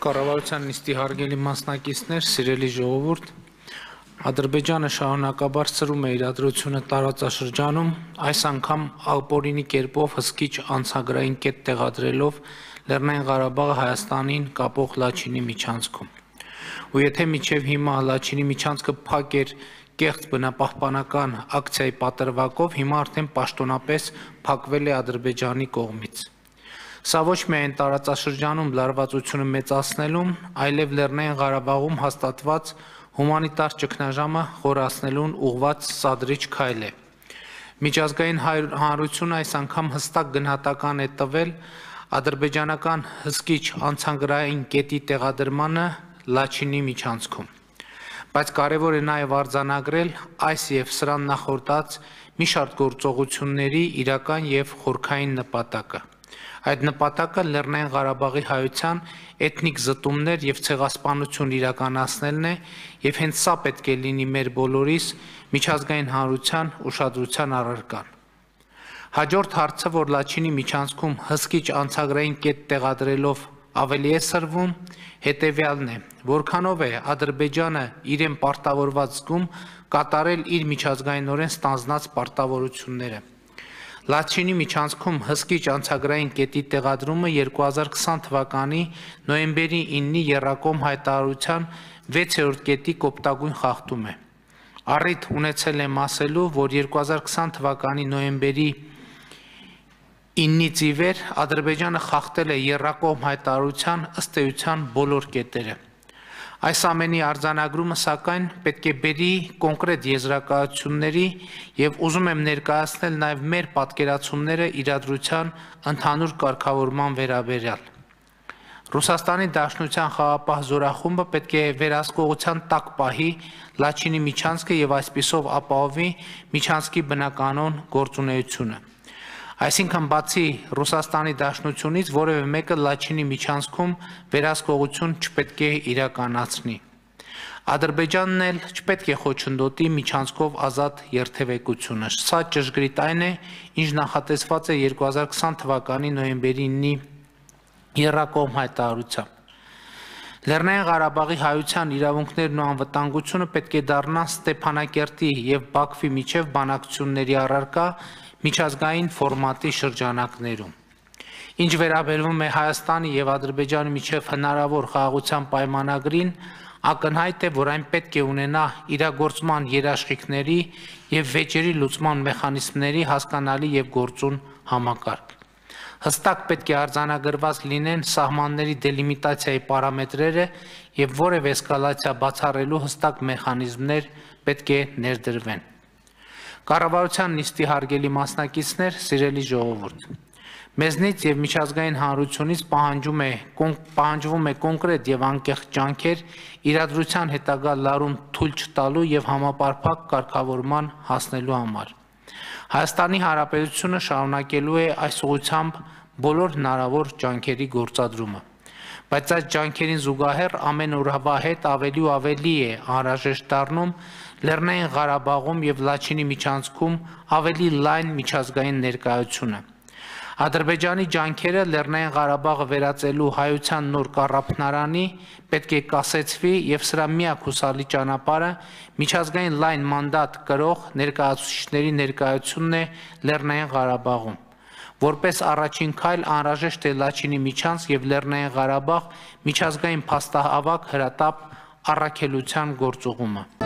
Կառավարության նիստի հարգելի մասնակիցներ, սիրելի ժողովուրդ, Ադրբեջանը շարունակաբար սրում է իրադրությունը տարածաշրջանում, այս անգամ ապօրինի կերպով հսկիչ անցագրային կետ տեղադրելով Լեռնային Ղարաբաղը Հայաստանին կապող Լաչինի միջանցքում։ Ու եթե մինչև հիմա Լաչինի միջանցքը փակ էր կեղծ բնապահպանական ակցիայի պատրվակով, հիմա արդեն պաշտոնապես փակվել է Ադրբեջանի կողմից։ Սա ոչ միայն տարածաշրջանում լարվածությունը մեծացնելուն, այլև Լեռնային Ղարաբաղում հաստատված հումանիտար ճգնաժամը խորացնելուն ուղղված սադրիչ քայլ է։ Միջազգային հանրությունը այս անգամ հստակ գնահատական է տվել ադրբեջանական հսկիչ անցագրային կետի տեղադրմանը Լաչինի միջանցքում։ Բայց կարևոր է նաև արձանագրել այս եւ սրան նախորդած մի շարք գործողությունների իրական եւ խորքային նպատակը։ Այդ նպատակը Լեռնային Ղարաբաղի հայության էթնիկ զտումներ եւ ցեղասպանություն իրականացնելն է եւ հենց սա պետք է լինի մեր բոլորիս միջազգային հանրության ուշադրության առարկան։ Հաջորդ հարցը, որ Լաչինի միջանցքում հսկիչ անցագրային կետ տեղադրելով ավելի է սրվում, հետեւյալն է, որքանով է Ադրբեջանը իրեն պարտավորված զգում կատարել իր միջազգայինորեն ստանձնած պարտավորությունները։ Լաչինի միջանցքում հսկիչ անցագրային կետի տեղադրումը 2020 թվականի նոյեմբերի 9-ի եռակողմ հայտարարության 6-րդ կետի կոպտագույն խախտում է։ Առիթ ունեցել եմ ասելու, որ 2020 թվականի նոյեմբերի 9-ից ի վեր Ադրբեջանը խախտել է եռակողմ հայտարարության ըստ էության բոլոր կետերը։ Այս ամենի արձանագրումը, սակայն, պետք է բերի կոնկրետ եզրակացությունների եւ ուզում եմ ներկայացնել նաեւ մեր պատկերացումները իրադրության ընդհանուր կարգավորման վերաբերյալ։ Ռուսաստանի Դաշնության խաղապահ զորախումբը պետք է վերահսկողության տակ պահի Լաչինի միջանցքը եւ այսպիսով ապահովի միջանցքի բնականon գործունեությունը։ Այսինքն բացի Ռուսաստանի Դաշնությունից որևէ մեկը Լաչինի միջանցքում վերահսկողություն չպետք է իրականացնի։ Ադրբեջանն էլ չպետք է խոչընդոտի միջանցքով ազատ երթևեկությունը։ Սա ճշգրիտ այն է, ինչ նախատեսված է 2020 թվականի նոյեմբերի 9-ի եռակողմ հայտարարությամբ։ Լեռնային Ղարաբաղի հայության իրավունքներն ու անվտանգությունը պետք է դառնան Ստեփանակերտի եւ Բաքվի միջև բանակցությունների առարկա միջազգային ֆորմատի շրջանակներում։ Ինչ վերաբերվում է Հայաստանի եւ Ադրբեջանի միջև հնարավոր խաղաղության պայմանագրին, ակնհայտ է, որ այն պետք է ունենա իրագործման երաշխիքների եւ վեճերի լուծման մեխանիզմների հասկանալի եւ գործուն համակարգ։ Հստակ պետք է արձանագրված լինեն սահմանների դելիմիտացիայի պարամետրերը եւ որևէ էսկալացիա բացառելու հստակ մեխանիզմներ պետք է ներդրվեն։ Կառավարության նիստի հարգելի մասնակիցներ, սիրելի ժողովուրդ, մեզնից եւ միջազգային հանրությունից պահանջվում է կոնկրետ եւ անկեղծ ջանքեր իրադրության հետագա լարում թույլ չտալու եւ համապարփակ կարգավորման հասնելու համար։ Հայաստանի Հանրապետությունը շարունակելու է այս ուղղությամբ բոլոր հնարավոր ջանքերի գործադրումը։ Բայց այս ջանքերին զուգահեռ ամեն օրվա հետ ավելի ու ավելի է անհրաժեշտ դառնում Լեռնային Ղարաբաղում եւ Լաչինի միջանցքում ավելի լայն միջազգային ներկայությունը։ Ադրբեջանի ջանքերը Լեռնային Ղարաբաղը վերածելու հայության նոր կառափնարանի պետք է կասեցվի եւ սրա միակ հուսալի ճանապարհը միջազգային լայն մանդատ կրող ներկայացուցիչների ներկայությունն է Լեռնային Ղարաբաղում։ Որպես առաջին քայլ անհրաժեշտ է Լաչինի միջանցք եւ Լեռնային Ղարաբաղ միջազգային փաստահավաք հրատապ առաքելության գործուղումը։